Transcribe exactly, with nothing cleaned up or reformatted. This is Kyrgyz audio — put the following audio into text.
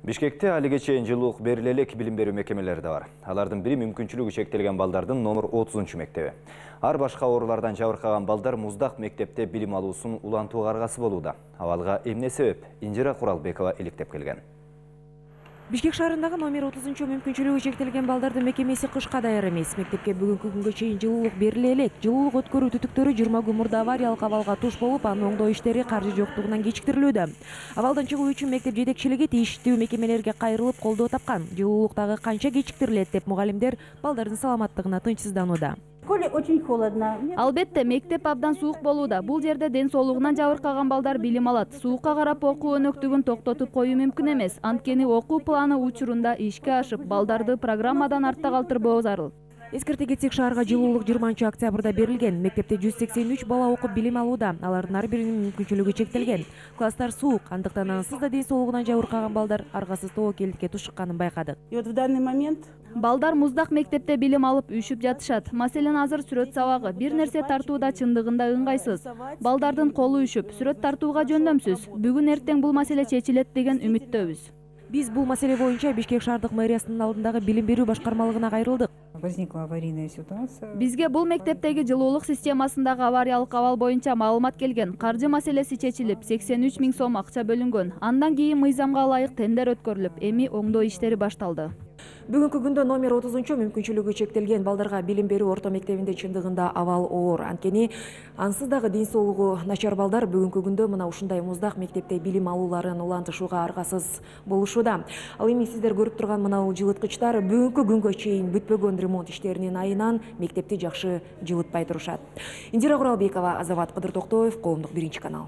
Бишкекте алиге чейин жылуулук бериле элек билим берүү мекемелери да бар. Алардын бири мүмкүнчүлүгү чектелген балдардын номер отузунчу мектеби. Ар башка оорулардан жабыркаган балдар Муздак мектепте билим алуусун улантууга аргасы болууда. Абалга эмне себеп? Инжира Куралбекова иликтеп келген. Бишкек шаарындагы номер отузунчу мүмкүнчүлүгү чектелген балдардын мекемеси кышка даяр эмес. Мектепке бүгүнкү күнгө чейин жылуулук бериле элек. Жылуулук өткөрүү түтүктөрү жыйырма күн мурда авариялык абалга туш болуп, анын оңдоо иштери каржы жоктугунан кечиктирилүүдө. Абалдан чыгуу үчүн мектеп жетекчилиги тийиштүү мекемелерге кайрылып колдоо тапкан. Жылуулук дагы канча кечиктирилет деп мугалимдер балдардын саламаттыгына тынчсызданууда. Очень холодно. Албетте, мектеп абдан суук болууда. Бул жерде ден соолугунан жабыркаган балдар билим алат. Суукка карап окуу өнөктүгүн токтотуп коюу мүмкүн эмес. Анткени окуу планы учурунда ишке ашып, балдарды программадан артта калтырбоо зарыл. Эскерте кетсек, шаарга жылуулук жыйырманчы октябрда берилген. Мектепте жүз сексен үч бала окуп билим алууда. Алардын ар биринин мүмкүнчүлүгү чектелген. Класстар суук, андыктан ансыз да ден соолугунан жабыркаган балдар аргасыз тобокелдикке тушукканын байкадык. И вот в данный момент балдар Муздак мектепте билим алып үшүп жатышат. Маселен, азыр сүрөт сабагы бир нерсе тартууда чындыгында ыңгайсыз. Балдардын колу үшүп, сүрөт тартууга жөндөмсүз. Бүгүн эртең бул маселе чечилет деген үмүттөбүз. Биз бул маселе боюнча Бишкек шаардык мэриясынын алдындагы билим берүү башкармалыгына кайрылдык. Возникла аварийная ситуация. Бизге бул мектептеги жылуулук системасындагы авариялык абал боюнча маалымат келген. Каржы маселеси чечилип, сексен үч миң сом акча бөлүнгөн. Андан кийин мыйзамга ылайык тендер өткөрүлүп, эми оңдоо иштери башталды. Бүгүнкү күндө номер отузунчу мүмкүнчүлүгү чектелген балдарга билим берүү орто мектебинде чындыгында абал оор. Анткени ансыз дагы ден соолугу начар балдар бүгүнкү күндө мына ушундай Муздак мектепте билим алууларын улантышууга аргасыз болушууда. Ал эми сиздер көрүп турган мына бул жылыткычтар бүгүнкү күнгө чейин бүтпөгөн ремонт иштеринин айынан мектепти жакшы жылытпай турушат. Индира Куралбекова, Азамат Кыдыртоктоев, Коомдук биринчи канал.